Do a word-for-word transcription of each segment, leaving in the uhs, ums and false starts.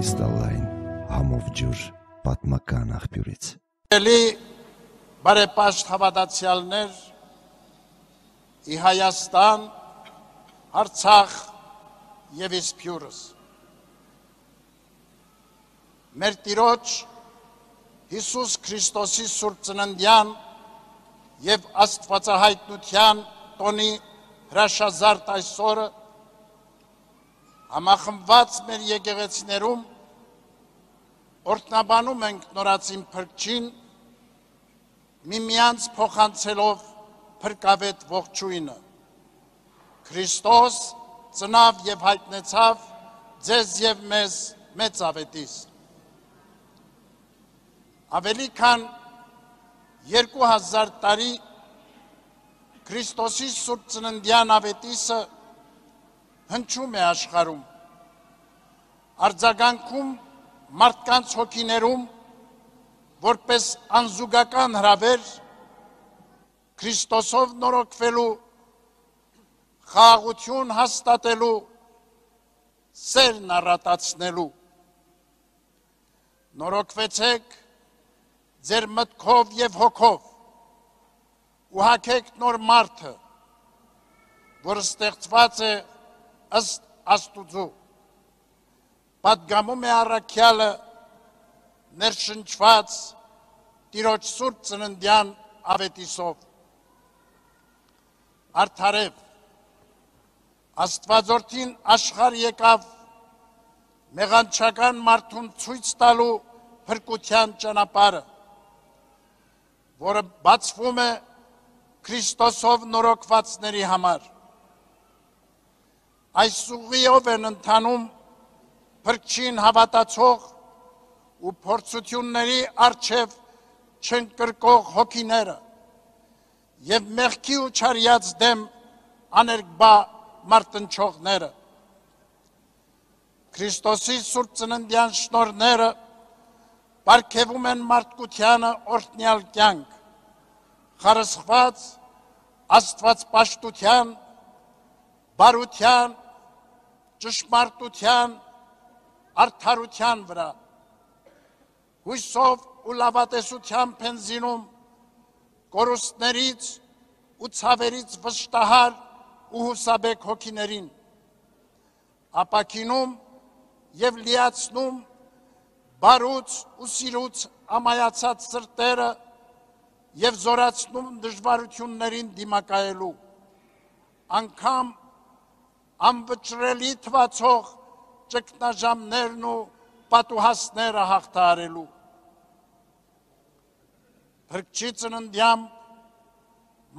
կրիստալային համով ջուր պատմական աղբյուրից։ Էլի բարեպաշտ հավատացյալներ ի Հայաստան, Արցախ և Իսփյուռս։ Մեր Տիրոջ Հիսուս Քրիստոսի Սուրբ Ծննդյան և Աստվածահայտնության տոնի հրաշազարդ այսօրը համախմբված մեր եկեղեցիներում օրհնաբանում ենք նորածին Փրկչին, միմյանց փոխանցելով փրկավետ ողջույնը։ Քրիստոս ծնավ և հայտնեցավ ձեզ և մեզ մեծ ավետիս։ Ավելի քան երկու հազար տարի Քրիստոսի Սուրբ Ծննդյան ավետիսը հնչում է աշխարհում, արձագանքում մարդկանց հոգիներում, որպես անզուգական հրավեր Քրիստոսով նորոգվելու, խաղաղություն հաստատելու, սերն առատացնելու։ Նորոգվեցեք ձեր մտքով և հոգով ու հագեք նոր մարդը, որ ստեղծված է ըստ Աստուծու, պատգամում է առաքյալը ներշնչված Տիրոջ Սուրբ Ծննդյան ավետիսով։ Արդարև, Աստվածորդին աշխարհ եկավ մեղանչական մարդուն ցույց տալու փրկության ճանապարհը, որը բացվում է Քրիստոսով նորոգվածների համար։ Այս ուղիով են ընթանում Փրկչին հավատացող ու փորձությունների առջև չընկրկող հոգիները և մեղքի ու չարյաց դեմ աներկբա մարտնչողները։ Քրիստոսի Սուրբ Ծննդյան շնորհները պարգևում են մարդկությանը օրհնյալ կյանք, խարսխված աստվածպաշտության, բարության, ճշմարտության, արդարության վրա, հույսով ու լավատեսությամբ են զինում կորուստներից ու ցավերից վշտահար ու հուսաբեկ հոգիներին, ապաքինում և լիացնում բարուց ու սիրուց ամայացած սրտերը և զորացնում դժվարություններին դիմակայելու, անգամ անվճռելի թվացող ճգնաժամերն ու պատուհասները հաղթահարելու։ Փրկչի ծննդյամբ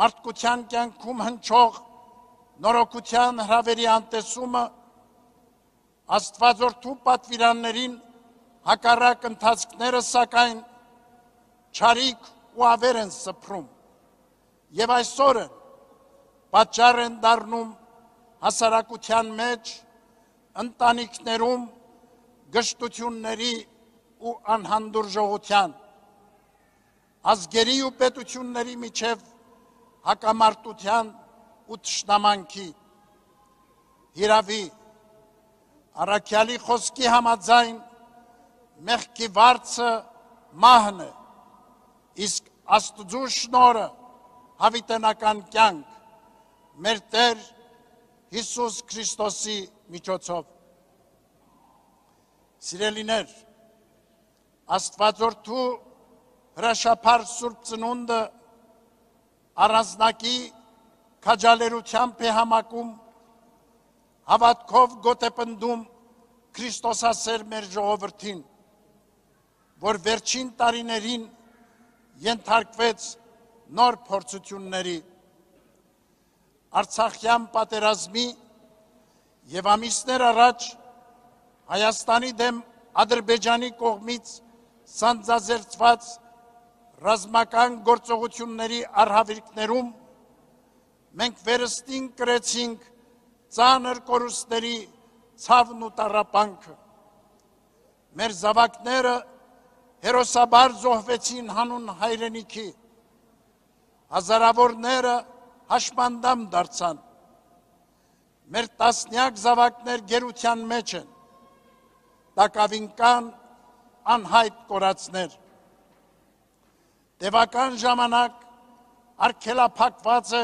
մարդկության կյանքում հնչող նորոգության հրավերի անտեսումը Աստվածորդու պատվիրաններին հակառակ ընթացքները սակայն չարիք ու ավեր են սփռում և այսօր են պատճառ են դառնում հասարակության մեջ, ընտանիքներում գժտությունների ու անհանդուրժողության, ազգերի ու պետությունների միջև հակամարտության ու թշնամանքի։ Հիրավի, առաքյալի խոսքի համաձայն մեղքի վարձը մահն է, իսկ Աստծու շնորհը հավիտենական կյանք մեր Տեր Հիսուս Քրիստոսի միջոցով։ Սիրելիներ, Աստվածորդու հրաշափառ Սուրբ Ծնունդը առանձնակի քաջալերությամբ է համակում, հավատքով գոտեպնդում Քրիստոսասեր մեր ժողովրդին, որ վերջին տարիներին ենթարկվեց նոր փորձությունների, Արցախյան պատերազմի և ամիսներ առաջ Հայաստանի դեմ Ադրբեջանի կողմից սանձազերծված ռազմական գործողությունների առհավիրքներում մենք վերստին կրեցինք ծանր կորուստների ցավն ու տառապանքը։ Մեր զավակները հերոսաբար զոհվեցին հանուն հայրենիքի, հազարավորները հաշմանդամ դարձան, մեր տասնյակ զավակներ գերության մեջ են, տակավին կան անհայտ կորածներ։ Տևական ժամանակ արգելափակված է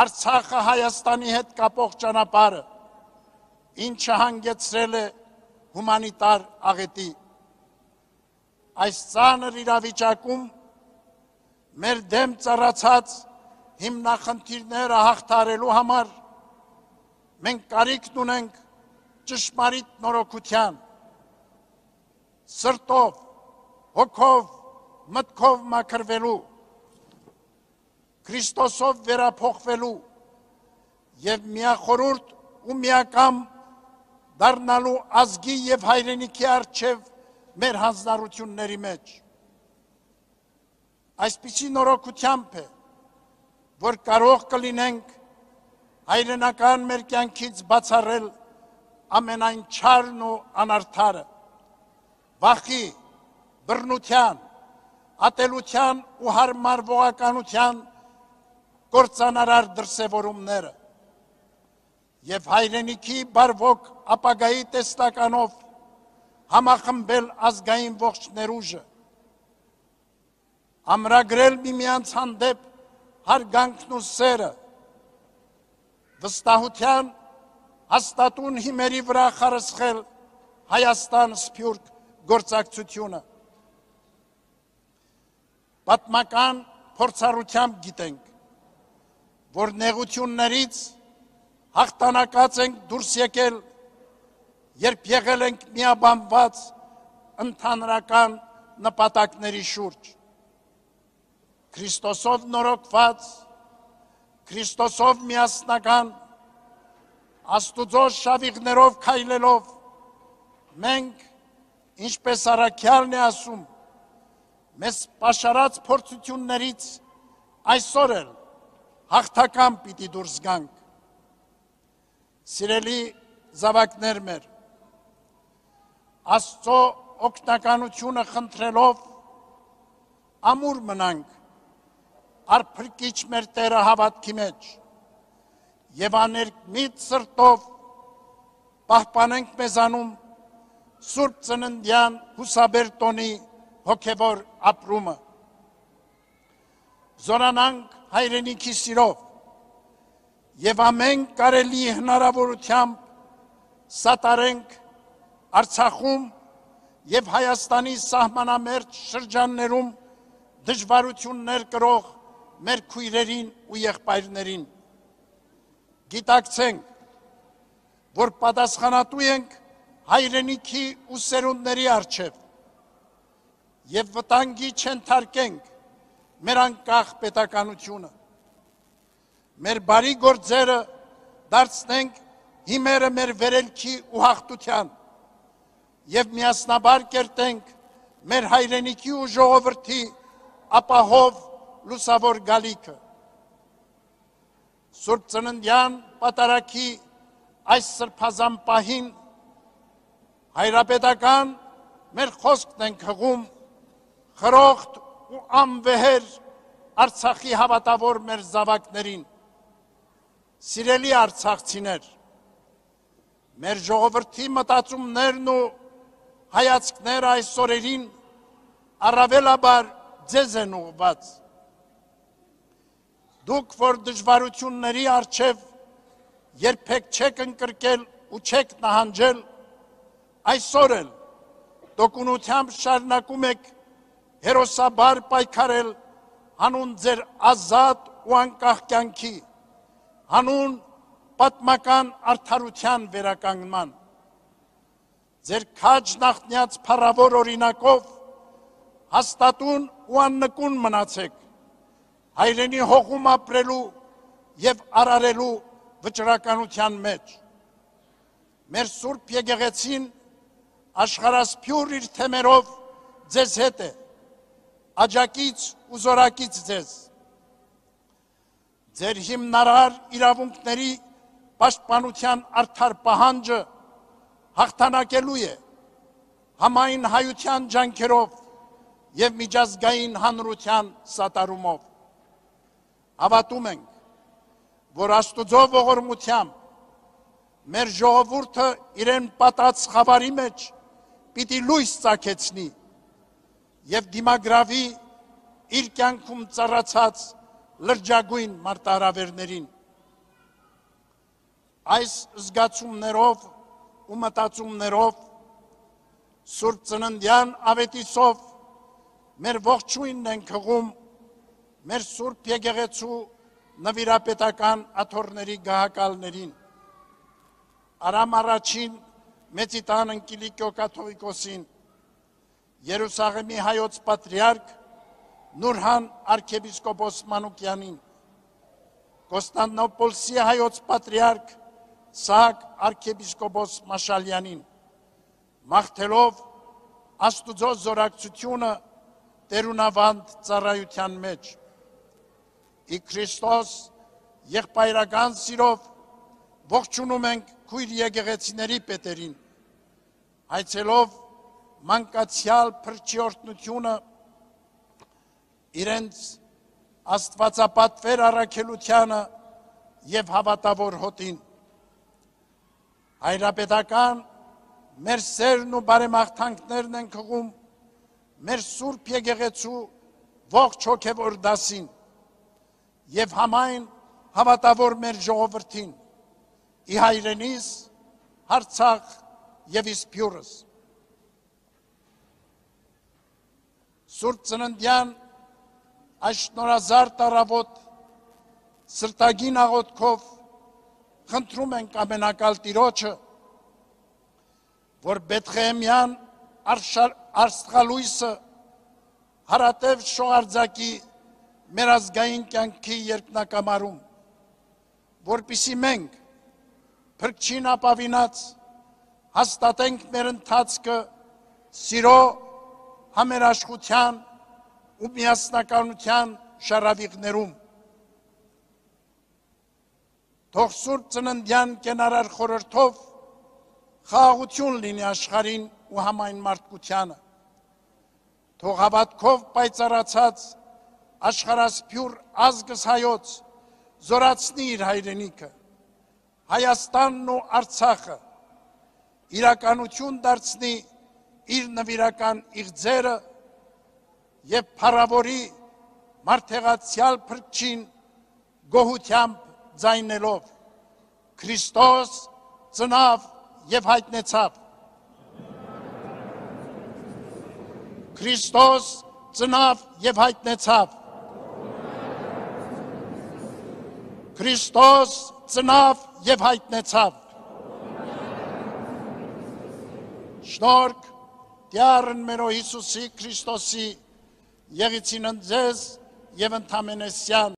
Արցախը Հայաստանի հետ կապող ճանապարհը, ինչը հանգեցրել է հումանիտար աղետի։ Այս ծանր իրավիճակում մեր դեմ ծառացած հիմնախնդիրները հաղթարելու համար մենք կարիք ունենք ճշմարիտ նորոգության, սրտով, հոգով, մտքով մաքրվելու, Քրիստոսով վերափոխվելու եւ միախորհուրդ ու միակամ դառնալու ազգի եւ հայրենիքի առջև մեր հանձնառությունների մեջ։ Այսպիսի նորոգությամբ է, որ կարող կլինենք հայրենական մեր կյանքից բացառել ամենայն չարն ու անարդարը, վախի, բռնության, ատելության ու հարմարվողականության կործանարար դրսևորումները եւ հայրենիքի բարվոք ապագայի տեսլականով համախմբել ազգային ողջ ներուժը, ամրագրել միմյանց հանդեպ հարգանքն ու սերը, վստահության հաստատուն հիմերի վրա խարսխել Հայաստան սփյուռք գործակցությունը։ Պատմական փորձառությամբ գիտենք, որ նեղություններից հաղթանակած ենք դուրս եկել, երբ եղել ենք միաբանված ընդհանրական նպատակների շուրջ։ Քրիստոսով նորոգված, Քրիստոսով միասնական, Աստուծո շավիղներով քայլելով, մենք, ինչպես առաքյալն է ասում, մեզ պաշարած փորձություններից այսօր էլ հաղթական պիտի դուրս գանք։ Սիրելի զավակներ մեր, Աստծո օգնականությունը խնդրելով ամուր մնանք արփրկիչ մեր Տերը հավատքի մեջ եւ աներկմիտ սրտով պահպանենք մեզանում Սուրբ Ծննդյան հուսաբերտոնի հոգևոր ապրումը։ Զորանանք հայրենիքի սիրով եւ ամեն կարելի հնարավորությամբ սատարենք Արցախում եւ Հայաստանի սահմանամերձ շրջաններում դժվարություններ կրող մեր քույրերին ու եղբայրներին։ Գիտակցենք, որ պատասխանատու ենք հայրենիքի ու սերունդների առջև եւ վտանգի չընթարկենք մեր անկախ պետականությունը։ Մեր բարի գործերը դարձնենք հիմերը մեր վերելքի ու հաղթության եւ միասնաբար կերտենք մեր հայրենիքի ու ժողովրդի ապահով լուսավոր գալիքը։ Սուրբ Ծննդյան պատարագի այս սրբազան պահին հայրապետական մեր խոսքն ենք հղում խրոխտ ու անվեհեր Արցախի հավատավոր մեր զավակներին։ Սիրելի արցախցիներ, մեր ժողովրդի մտածումներն ու հայացքները այս օրերին առավելաբար ձեզ են ուղղված։ Դուք, որ դժվարությունների առջև երբեք չեք ընկրկել ու չեք նահանջել, այսօր էլ տոկունությամբ շարունակում եք հերոսաբար պայքարել հանուն ձեր ազատ ու անկախ կյանքի, հանուն պատմական արդարության վերականգնման։ Ձեր քաջ նախնյաց փառավոր օրինակով հաստատուն ու աննկուն մնացեք հայրենի հողում ապրելու եւ արարելու վճռականության մեջ։ Մեր Սուրբ Եկեղեցին աշխարհասփյուռ իր թեմերով ձեզ հետ է, աջակից ու զորակից ձեզ։ Ձեր հիմնարար իրավունքների պաշտպանության արդար պահանջը հաղթանակելու է համայն հայության ջանքերով եւ միջազգային հանրության սատարումով։ Հավատում ենք, որ Աստուծո ողորմությամբ մեր ժողովուրդը իրեն պատած խավարի մեջ պիտի լույս ծագեցնի եւ դիմագրավի իր կյանքում ծառացած լրջագույն մարտահրավերներին։ Այս զգացումներով ու մտածումներով Սուրբ Ծննդյան ավետիսով մեր ողջույնն ենք հղում մեր Սուրբ Եկեղեցու նվիրապետական աթոռների գահակալներին, Արամ առաջին Մեծիտան Ընկիլիկիո կաթողիկոսին, Երուսաղեմի հայոց պատրիարք Նուրհան արքեպիսկոպոս Մանուկյանին, Կոստանդնոպոլսի հայոց պատրիարք Սահակ արքեպիսկոպոս Մաշալյանին, մաղթելով Աստուծո զորակցությունը տերունավանդ ծառայության մեջ։ Ի Քրիստոս եղբայրական սիրով ողջունում ենք քույր եկեղեցիների պետերին, հայցելով մանկացյալ փրկչորդնությունը իրենց աստվածապատվեր առաքելությանը եւ հավատավոր հոտին։ Հայրապետական մեր սերն ու բարեմաղթանքներն ենք հղում մեր Սուրբ Եկեղեցու ողջ հոգևոր դասին եւ համայն հավատավոր մեր ժողովրդին, ի հայրենիս, Արցախ եւ Իսպյուրս։ Սուրբ Ծննդյան այս շնորհազարդ առավոտ սրտագին աղոթքով խնդրում ենք ամենակալ Տիրոջը, որ Բեթղեհեմյան Աստղալույսը հարատև շողարձակի մեր ազգային կյանքի երկնակամարում, որպիսի մենք փրկչին ապավինած հաստատենք մեր ընթացքը սիրո, համերաշխության ու միասնականության շարավիղներում։ Թող Սուրբ Ծննդյան կենարար խորհրդով խաղաղություն լինի աշխարհին ու համայն մարդկությանը։ Թող հավատքով պայծառացած աշխարհասփյուր ազգս հայոց զորացնի իր հայրենիքը, Հայաստանն ու Արցախը, իրականություն դարձնի իր նվիրական իղձերը եւ փառավորի մարդեղացյալ փրկչին գոհությամբ ձայնելով Քրիստոս ծնավ եւ հայտնեցավ։ Քրիստոս ծնավ եւ հայտնեցավ։ Քրիստոս ծնավ եւ հայտնեցավ։ Շնորհք Տյառն մերո Հիսուսի Քրիստոսի եղիցին ընձեզ եւ ընդամենեսյան